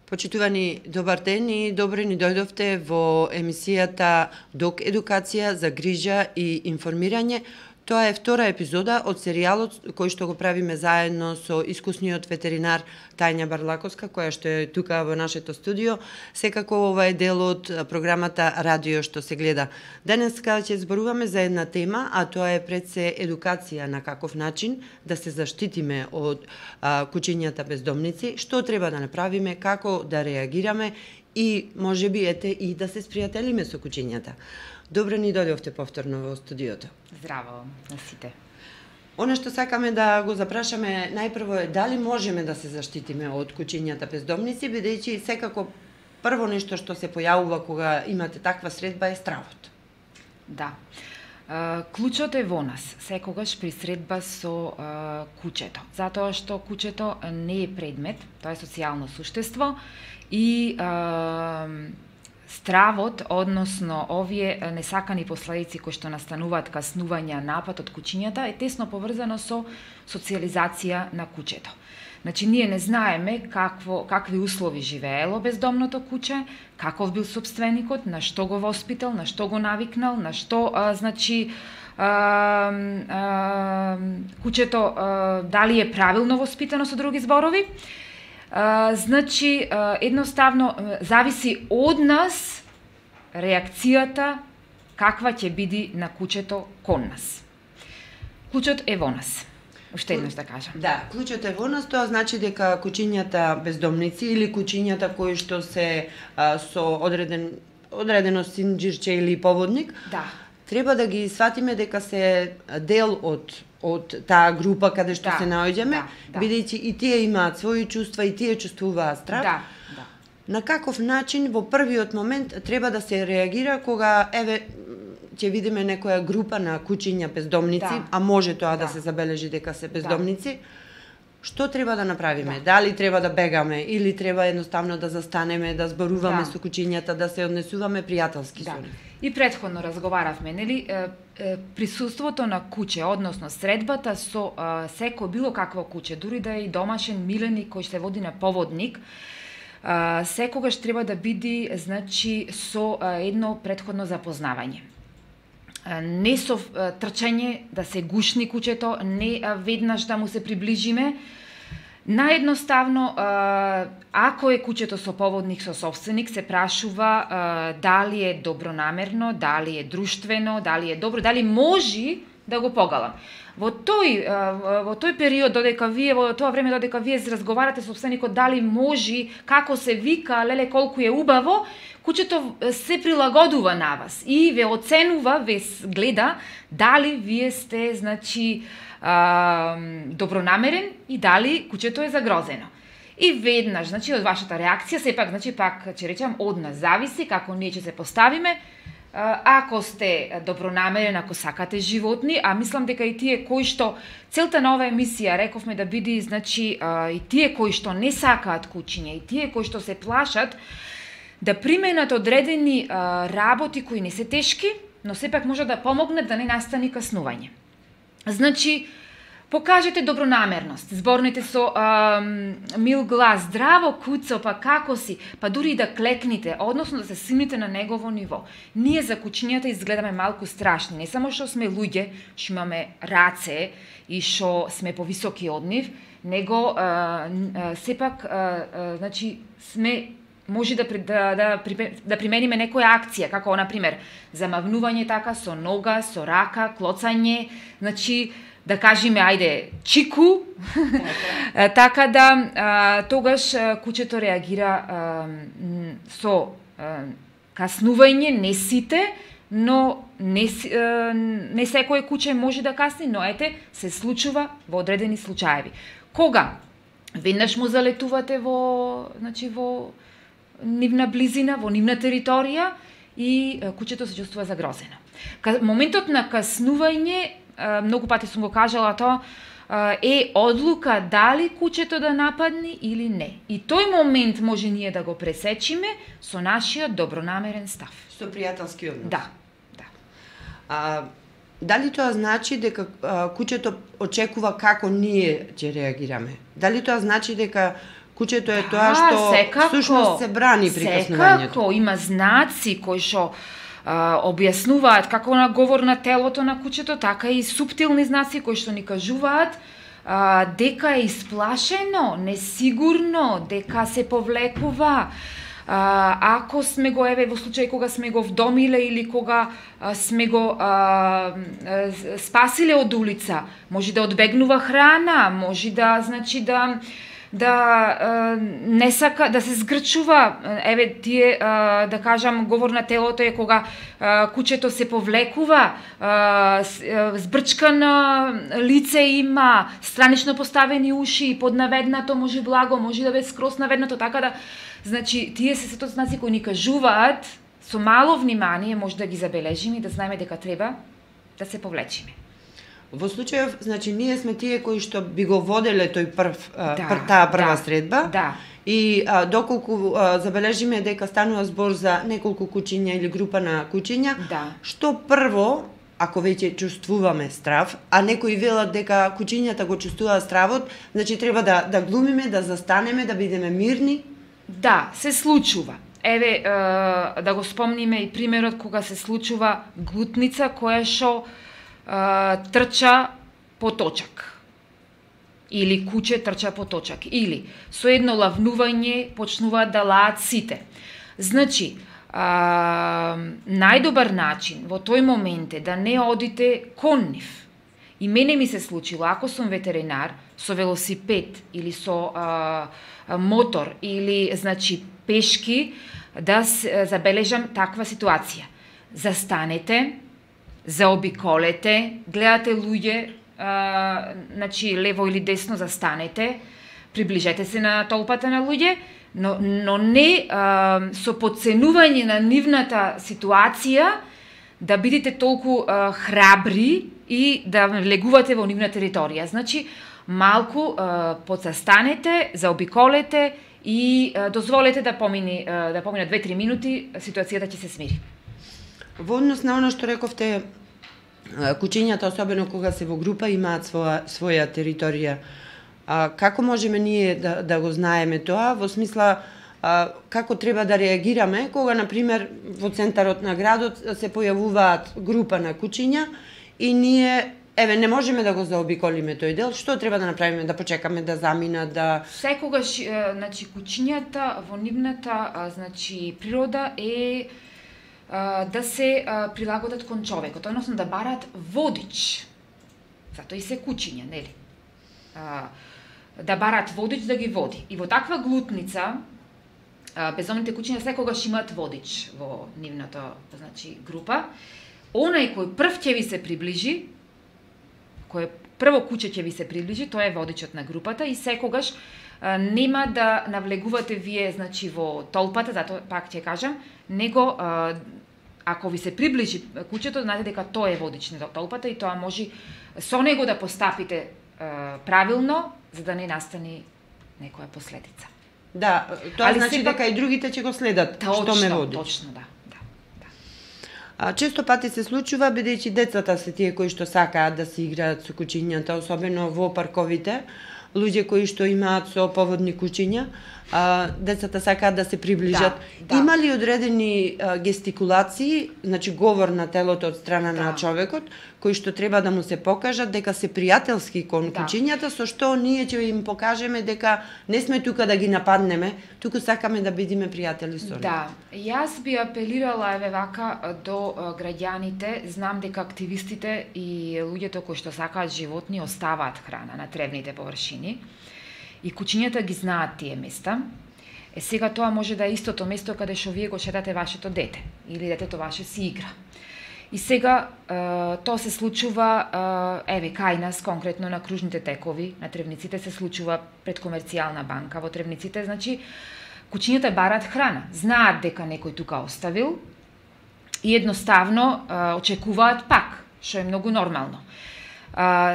Почитувани, добар ден и добре ни дојдовте во емисијата Док едукација за грижа и информирање. Тоа е втора епизода од серијалот кој што го правиме заедно со искусниот ветеринар Тања Барлаковска, која што е тука во нашето студио. Секако ова е дел од програмата Радио што се гледа. Денеска ќе зборуваме за една тема, а тоа е пред се едукација на каков начин да се заштитиме од кучињата бездомници, што треба да направиме, како да реагираме и можеби и да се спријателиме со кучињата. Добре ни дојдовте повторно во студиото. Здраво на сите. Оно што сакаме да го запрашаме најпрво е дали можеме да се заштитиме од кучињата бездомници, бидејќи секако прво нешто што се појавува кога имате таква средба е стравот. Да. Клучот е во нас, секогаш при средба со кучето. Затоа што кучето не е предмет, тоа е социјално суштество и стравот, односно овие несакани последици кои што настануваат каснувања, напад од кучињата, е тесно поврзано со социјализација на кучето. Значи, ние не знаеме какви услови живеело бездомното куче, каков бил собственикот, на што го воспитал, на што го навикнал, на што, кучето дали е правилно воспитано со други зборови. Значи, едноставно, зависи од нас реакцијата каква ќе биде на кучето кон нас. Клучот е во нас. Уште еднаш да кажам. Да, клучот е во нас, тоа значи дека кучињата бездомници или кучињата кои што се со одредено синџирче или поводник, да, треба да ги сватиме дека се дел од таа група каде што се наоѓаме, бидејќи и тие имаат своји чувства и тие чувствуваат страв. Да. На каков начин во првиот момент треба да се реагира кога ќе видиме некоја група на кучиња бездомници, а може тоа да се забележи дека се бездомници, што треба да направиме? Дали треба да бегаме или треба едноставно да застанеме, да зборуваме со кучињата, да се однесуваме пријателски со нив? И претходно разговаравме, нели, присуството на куче, односно средбата со секој било какво куче, дури да е и домашен миленик кој се води на поводник, секогаш треба да биде, значи, со едно претходно запознавање. Не со трчање да се гушни кучето, не веднаш да му се приближиме. Наедноставно, ако е кучето со поводник, со собственик, се прашува дали е добронамерно, дали е друштвено, дали е добро, дали може да го погалам. Во тој период, во тоа време додека вие разговарате со собственикот дали може, како се вика, леле колку е убаво, кучето се прилагодува на вас и ве оценува, ве гледа дали вие сте, значи, добронамерен и дали кучето е загрозено. И веднаш, значи, од вашата реакција, сепак, значи, пак, ќе речам, од нас зависи како ние ќе се поставиме. Ако сте добронамерен, ако сакате животни, а мислам дека и тие кои што целта на оваа емисија рековме да биде, значи, и тие кои што не сакаат кучиња, и тие кои што се плашат, да применат одредени работи кои не се тешки, но сепак може да помогнат да не настани каснување. Значи, покажете добронамерност, зборнете со мил глас, здраво куцо, па како си, па дури и да клекните, односно да се симните на негово ниво. Ние за кучињата изгледаме малку страшни, не само што сме луѓе, што имаме раце и што сме повисоки од нив, него сепак, значи, сме може да примениме некоја акција, како, например, замавнување така со нога, со рака, клоцање, значи, да кажеме, ајде, чику, така да тогаш кучето реагира со каснување, не сите, но не секој куче може да касни, но ете, се случува во одредени случаеви. Кога веднаш му залетувате во нивна близина, во нивна територија и кучето се чувствува загрозено. Моментот на каснување, многу пати сум го кажала тоа, е одлука дали кучето да нападне или не. И тој момент може ние да го пресечиме со нашиот добронамерен став. Со пријателски однос. Да. Дали тоа значи дека кучето очекува како ние ќе реагираме? Дали тоа значи дека Кучето е тоа што всушност се брани прикоснувањето. Секако, има знаци кои што објаснуваат како на говор на телото на кучето, така и суптилни знаци кои што ни кажуваат дека е исплашено, несигурно, дека се повлекува. Ако сме го, еве, во случај кога сме го вдомиле или кога сме го спасиле од улица, може да одбегнува храна, може да, значи, да не сака, да се згрчува. Еве, тие, да кажам, говор на телото е кога кучето се повлекува, збрчкано лице има, странично поставени уши, поднаведнато, може благо, може да биде скрос наведнато, така да, значи, тие се сето знаци кои ни кажуваат, со мало внимание може да ги забележиме и да знаеме дека треба да се повлечиме. Во случајов, значи, ние сме тие кои што би го воделе тој таа прва средба. Да. И доколку забележиме дека станува збор за неколку кучиња или група на кучиња, што прво, ако веќе чувствуваме страв, а некои велат дека кучињата го чувствуваат стравот, значи треба да глумиме, да застанеме, да бидеме мирни. Да, се случува. Еве, да го спомниме и примерот кога се случува глутница која што трча по точак. Или куче трча по точак. Или со едно лавнување почнуваат да лаат сите. Значи, најдобар начин во тој момент е да не одите кон нив. И мене ми се случило, ако сум ветеринар, со велосипед или со мотор или, значи, пешки, да забележам таква ситуација. Застанете, заобиколете, гледате луѓе, значи лево или десно застанете, приближете се на толпата на луѓе, но не со подценување на нивната ситуација да бидете толку храбри и да влегувате во нивна територија. Значи, малку подзастанете, заобиколете и дозволете да помине 2-3 минути, ситуацијата ќе се смири. Во однос на оно што рековте, кучињата, особено кога се во група, имаат своја територија. Како можеме ние да го знаеме тоа? Во смисла, како треба да реагираме кога, например, во центарот на градот се појавуваат група на кучиња и ние, еве, не можеме да го заобиколиме тој дел, што треба да направиме? Да почекаме да заминат, да... Секогаш, значи, кучињата во нивната, значи, природа е да се прилагодат кон човекот, односно да барат водич. Затоа и се кучиња, нели? Да барат водич да ги води. И во таква глутница, безумните кучиња секогаш имаат водич во нивната, значи, група. Онај кој прв ќе ви се приближи, кој прво куче ќе ви се приближи, тоа е водичот на групата и секогаш нема да навлегувате вие, значи, во толпата, затоа пак ќе кажам, него ако ви се приближи кучето, знаете дека тоа е водич на толпата и тоа може со него да постапите правилно, за да не настани некоја последица. Да, тоа значи дека и другите ќе го следат што ме води. Точно, да. Често пати се случува, бидејќи децата се тие кои што сакаат да се играат со кучињата, особено во парковите, луѓе кои што имаат со поводни кучиња, децата сакаат да се приближат. Да. Има ли одредени гестикулации, значи говор на телото од страна на човекот, кои што треба да му се покажат дека се пријателски кон кучињата, со што ние ќе им покажеме дека не сме тука да ги нападнеме, туку сакаме да бидеме пријатели со нив. Да, јас би апелирала, еве вака, до граѓаните. Знам дека активистите и луѓето кои што сакаат животни оставаат храна на тревните површини и кучињата ги знаат тие места. Сега тоа може да е истото место каде што вие го шетате вашето дете или детето ваше си игра. И сега тоа се случува, еве, кај нас, конкретно на кружните текови, на тревниците се случува пред комерцијална банка. Во тревниците, значи, кучињата бараат храна. Знаат дека некој тука оставил и едноставно очекуваат пак, што е многу нормално.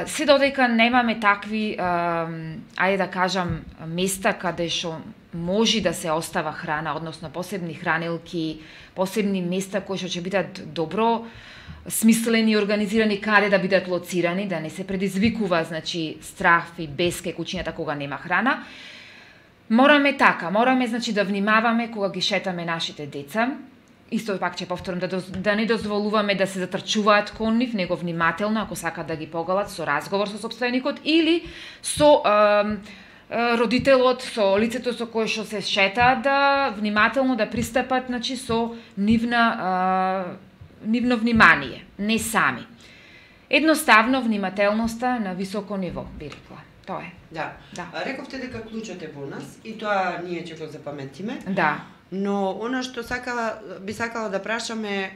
Се додека немаме такви, ајде да кажам, места каде што може да се остава храна, односно посебни хранилки, посебни места кои што ќе бидат добро смислени и организирани каде да бидат лоцирани, да не се предизвикува, значи, страх и беске кучињата кога нема храна. Мораме значи да внимаваме кога ги шетаме нашите деца. Исто пак ќе повторам да не дозволуваме да се затрчуваат кон нив, него внимателно ако сакаат да ги погалат со разговор со сопственикот или со родителот, со лицето со кое што се шетаат, да внимателно да пристапат, значи со нивно внимание, не сами. Едноставно внимателноста на високо ниво, би рекла. Тоа е. Да. Рековте дека клучот е во нас и тоа ние ќе го запаметиме. Да. Но она што би сакала да прашаме,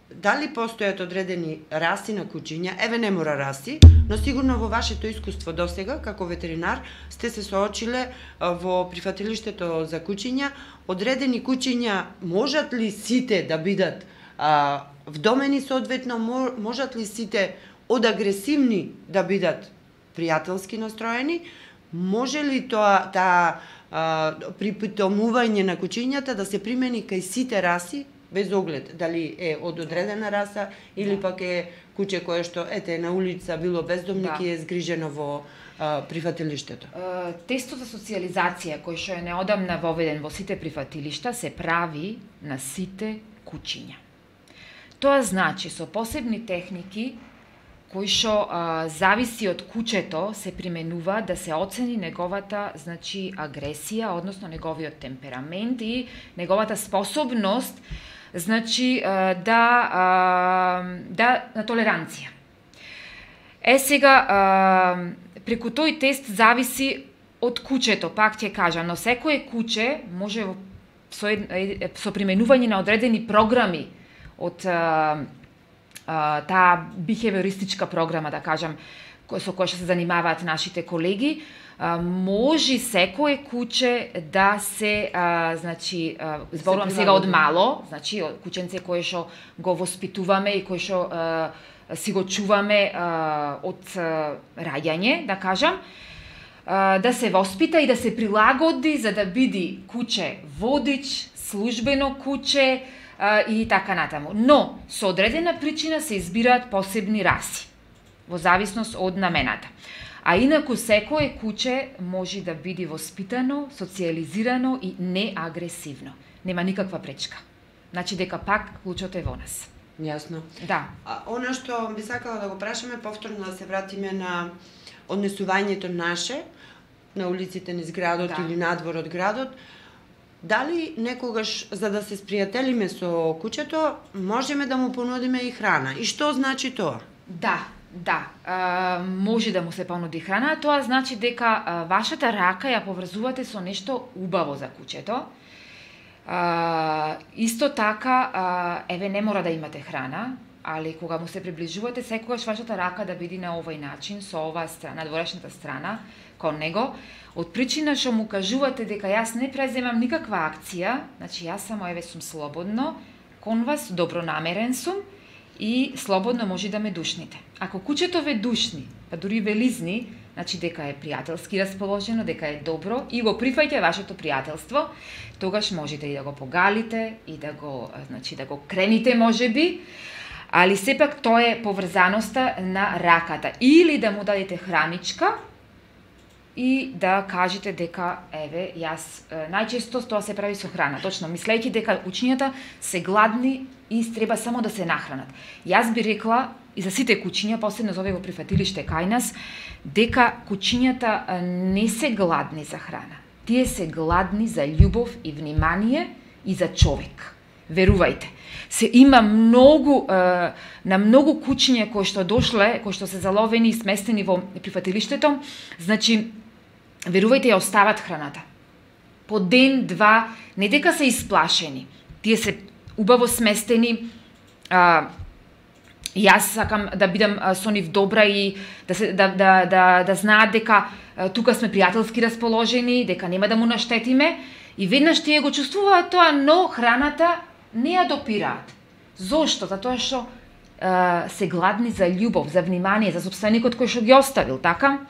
дали постојат одредени раси на кучиња, еве не мора раси, но сигурно во вашето искуство досега, како ветеринар, сте се соочиле во прифатилиштето за кучиња, одредени кучиња можат ли сите да бидат вдомени соодветно, можат ли сите од агресивни да бидат пријателски настроени, може ли таа припитомување на кучињата да се примени кај сите раси, без оглед дали е од одредена раса или пак е куче кое што на улица било бездомник и е згрижено во прифатилиштето? Тестот за социјализација кој што е неодамна воведен во сите прифатилишта се прави на сите кучиња. Тоа значи со посебни техники кои што зависи од кучето се применува да се оцени неговата агресија, односно неговиот темперамент и неговата способност на толеранција. Сега преку тој тест зависи од кучето, пак ќе кажам, но секое куче може со применување на одредени програми од таа бихевиористичка програма, да кажам, со која што се занимаваат нашите колеги, може секое куче да се, зборувам сега од мало, кученце кое што го воспитуваме и кое што си го чуваме од раѓање, да кажам, да се воспита и да се прилагоди за да биде куче водич, службено куче, и така натаму. Но, со одредена причина се избираат посебни раси, во зависност од намената. А инаку секое куче може да биде воспитано, социјализирано и неагресивно. Нема никаква пречка. Значи дека пак клучот е во нас. Јасно. Да. Она што би сакала да го прашаме, повторно да се вратиме на однесувањето наше, на улиците низ градот или надвор од градот, дали некогаш, за да се спријателиме со кучето, можеме да му понудиме и храна? И што значи тоа? Да, може да му се понуди храна, тоа значи дека вашата рака ја поврзувате со нешто убаво за кучето. Исто така, не мора да имате храна, али кога му се приближувате, секогаш вашата рака да биде на овој начин, со оваа страна, надворешната страна, кон него, од причина што му кажувате дека јас не преземам никаква акција, значи јас само сум слободно, кон вас добронамерен сум и слободно може да ме душните. Ако кучето ве душни, па дури ве лизни, значи дека е пријателски расположено, дека е добро и го прифаќа вашето пријателство, тогаш можете и да го погалите и да го крените можеби, али сепак тоа е поврзаноста на раката. Или да му дадете храничка и да кажете дека, јас, најчесто тоа се прави со храна, точно, мислејќи дека кучињата се гладни и треба само да се нахранат. Јас би рекла, и за сите кучиња, посебно за овие во прифатилиште кај нас, дека кучињата не се гладни за храна. Тие се гладни за љубов и внимание и за човек. Верувајте. Се има на многу кучиња кои што дошле, кои што се заловени и сместени во прифатилиштето, значи, верувајте, ја остават храната. По ден, два, не дека се исплашени. Тие се убаво сместени. Јас сакам да бидам со нив добра и да знаат дека тука сме пријателски расположени, дека нема да му наштетиме, и веднаш тие го чувствуваат тоа, но храната не ја допираат. Зошто? Затоа што се гладни за љубов, за внимание, за сопственикот кој што ги оставил, така?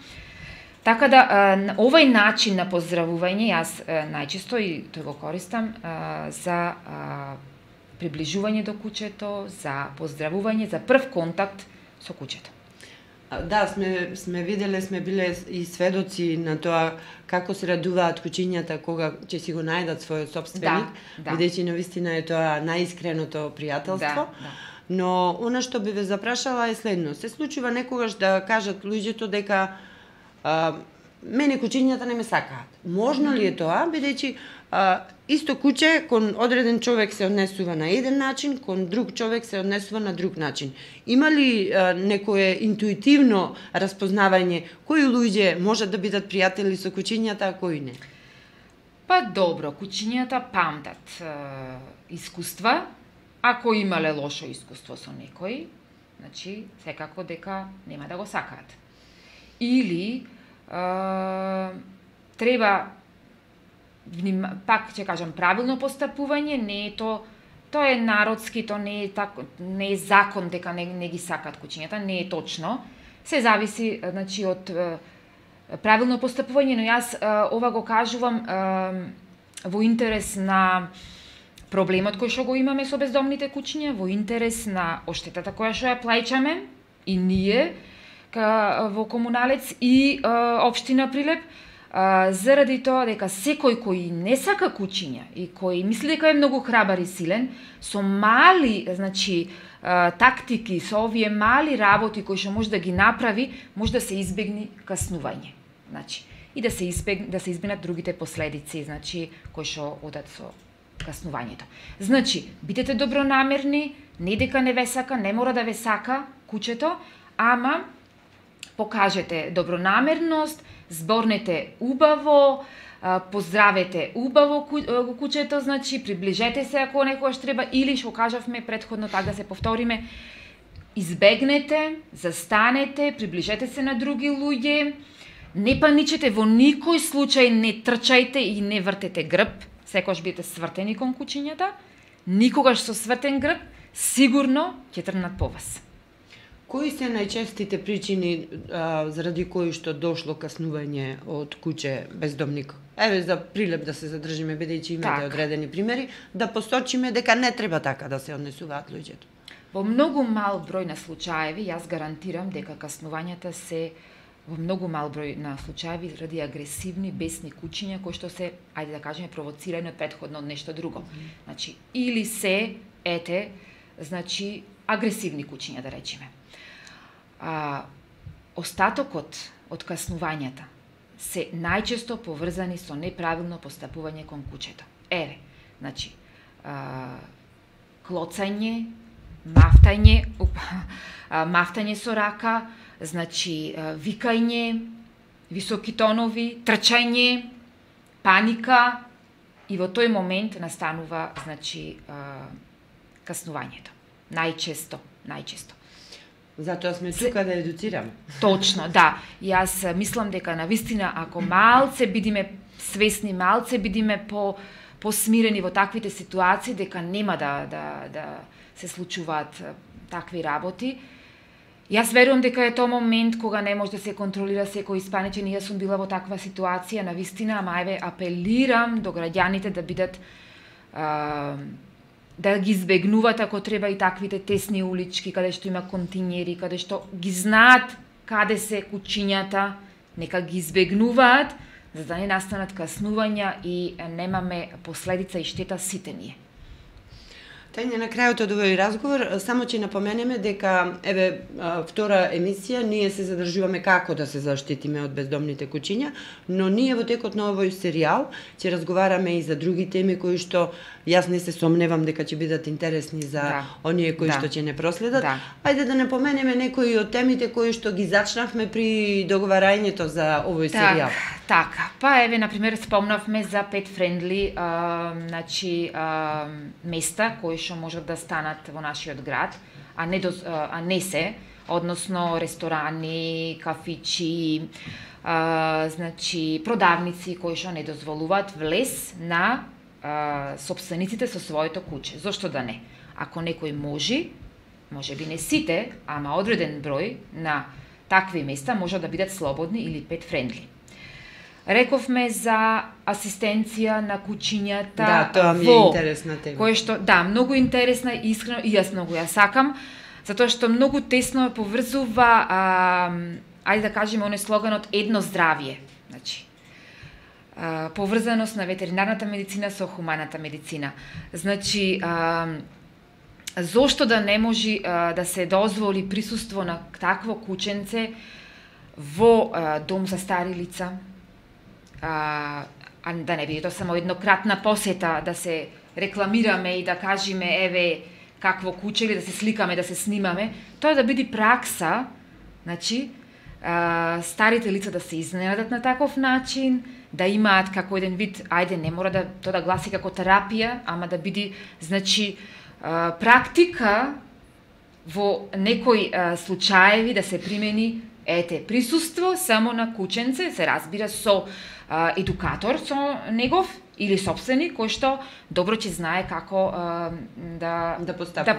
Така да, овој начин на поздравување, јас најчесто и тој го користам за приближување до кучето, за поздравување, за прв контакт со кучето. Да, сме виделе, сме биле и сведоци на тоа како се радуваат кучињата кога ќе си го најдат својот сопственик, бидејќи навистина е тоа најискреното пријателство. Но она што би ве запрашала е следно. Се случува некогаш да кажат луѓето дека мене кучињата не ме сакаат. Можно ли е тоа, бидејќи исто куче кон одреден човек се однесува на еден начин, кон друг човек се однесува на друг начин. Има ли некое интуитивно распознавање кои луѓе можат да бидат пријатели со кучињата, а кои не? Па добро, кучињата памтат искуства. Ако имале лошо искуство со некој, значи секако дека нема да го сакаат. Или треба пак ќе кажам правилно постапување, не е тоа е народски, тоа не е закон дека не ги сакаат кучињата, не е точно. Се зависи значи од правилно постапување, но јас ова го кажувам во интерес на проблемот кој што го имаме со бездомните кучиња, во интерес на оштетата која што ја плаќаме и ние во Комуналец и општина Прилеп, заради тоа дека секој кој не сака кучиња и кој мисли дека е многу храбар и силен, со мали, значи, тактики, со овие мали работи кои што може да ги направи, може да се избегне каснување. Значи, и да се избегнат другите последици, значи, кои што одат со каснувањето. Значи, бидете добронамерни, не дека не ве сака, не мора да ве сака кучето, ама покажете добронамерност, зборнете убаво, поздравете убаво кучето, значи приближете се ако некогаш треба, или што кажавме претходно, така да се повториме, избегнете, застанете, приближете се на други луѓе, не паничете во никој случај, не трчајте и не вртете грб, секогаш бидете свртени кон кучињата, никогаш со свртен грб, сигурно ќе тргнат по вас. Кои се најчестите причини заради кои што дошло каснување од куче бездомник? Еве за Прилеп да се задржиме, бидејќи имате одредени примери, да посочиме дека не треба така да се однесуваат луѓето. Во многу мал број на случаеви, јас гарантирам дека каснувањата се во многу мал број на случаеви заради агресивни, бесни кучиња кои што се, ајде да кажеме, провоцирани од претходно од нешто друго. Значи, или се значи агресивни кучиња, да речеме. Остатокот од каснувањата се најчесто поврзани со неправилно постапување кон кучето. Еве, значи, клоцање, мафтање со рака, значи, викање, високи тонови, трчање, паника, и во тој момент настанува, значи, каснувањето. Најчесто. Затоа сме тука да едуцираме. Точно, да. Јас мислам дека навистина ако малце бидиме свесни, малце бидиме посмирени во таквите ситуации, дека нема да се случуваат такви работи. Јас верувам дека е тоа момент кога не може да се контролира секој испаничен, и јас сум била во таква ситуација, навистина, ама еве апелирам до граѓаните да бидат да ги избегнуваат ако треба и таквите тесни улички, каде што има континери, каде што ги знаат каде се кучињата, нека ги избегнуваат, за да не настанат каснувања и немаме последица и штета сите ние. Тајне, на крајот од овој разговор, само ќе напоменеме дека, еве, втора емисија, ние се задржуваме како да се заштитиме од бездомните кучиња, но ние во текот на овој серијал ќе разговараме и за други теми кои што јас не се сомневам дека ќе бидат интересни за оние кои што ќе не проследат. Ајде да напоменеме некои од темите кои што ги зачнавме при договарањето за овој серијал. Така, па еве, например, спомнавме за pet friendly значи, места кои што можат да станат во нашиот град, а не се, односно ресторани, кафичи, значи продавници кои што не дозволуваат влез на сопствениците со своето куче. Зошто да не? Ако некој може би не сите, ама одреден број на такви места може да бидат слободни или pet friendly. Рековме за асистенција на кучињата. Да, тоа ми е интересна тема. Кое што, да, многу интересна, искрено, и јас многу ја сакам. затоа што многу тесно поврзува, ајде да кажеме, оној слоганот едно здравје. Значи, поврзаност на ветеринарната медицина со хуманата медицина. Значи, зошто да не може да се дозволи присуство на такво кученце во дом за стари лица, да не биде тоа само еднократна посета, да се рекламираме и да кажеме еве какво куче, или да се сликаме, да се снимаме, тоа да биде пракса, значи, старите лица да се изненадат на таков начин, да имаат како еден вид, ајде, не мора да тоа да гласи како терапија, ама да биде, значи, практика во некои случаеви да се примени присуство само на кученце, се разбира со едукатор со негов или собственик кој што добро ќе знае како да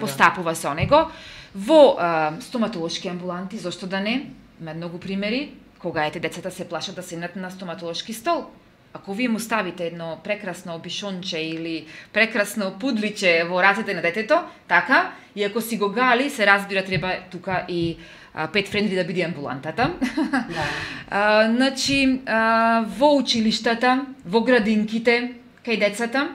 постапува со него. Во стоматолошки амбуланти, зошто да не? Има многу примери кога децата се плашат да седнат на стоматолошки стол. Ако вие му ставите едно прекрасно обишонче или прекрасно пудличе во рацете на детето, така, и ако си го гали, се разбира, треба тука и pet friendly да биде амбулантата. Да. Значи, во училиштата, во градинките, кај децата,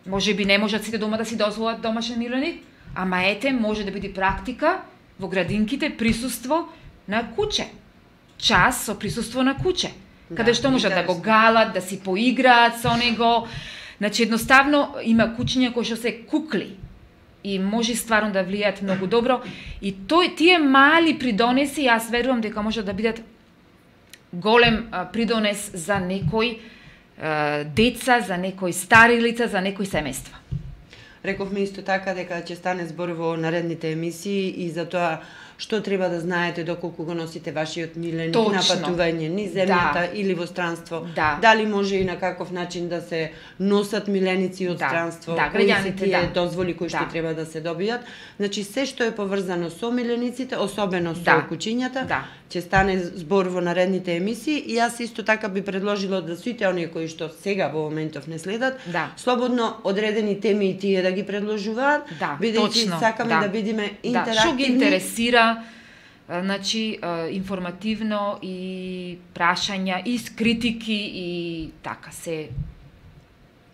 може би не можат сите дома да си дозволат домашен миленик, ама може да биде практика во градинките присуство на куче. Час со присуство на куче. Каде што можат да го галат, да си поиграат со него. Значи, едноставно има кучиња кои што се кукли и може стварно да влијаат многу добро. И тие мали придонеси, јас верувам дека може да бидат голем придонес за некои деца, за некои стари лица, за некои семејства. Рековме исто така дека ќе стане збор во наредните емисии и за тоа што треба да знаете доколку го носите вашиот миленик на патување низ земјата или во странство. Дали може и на каков начин да се носат миленици од странство, кои се тие дозволи кои што треба да се добијат. Значи, се што е поврзано со милениците, особено со кучињата, ќе стане збор во наредните емисии и јас исто така би предложила да сите оние кои што сега во моментов не следат, слободно одредени теми и тие да ги предложуваат, бидејќи сакаме да бидеме интерактивни. Што ги интересира, значи, информативно и прашања, и критики и така се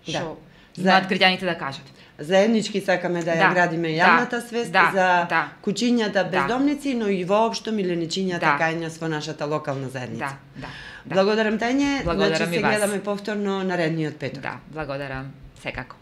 што знаат граѓаните да кажат. Заеднички сакаме да ја градиме јавната свест за кучињата бездомници, но и воопшто миленичињата кај нас во нашата локална заедница. Благодарам Тање, значи се гледаме повторно наредниот петок. Благодарам, секако.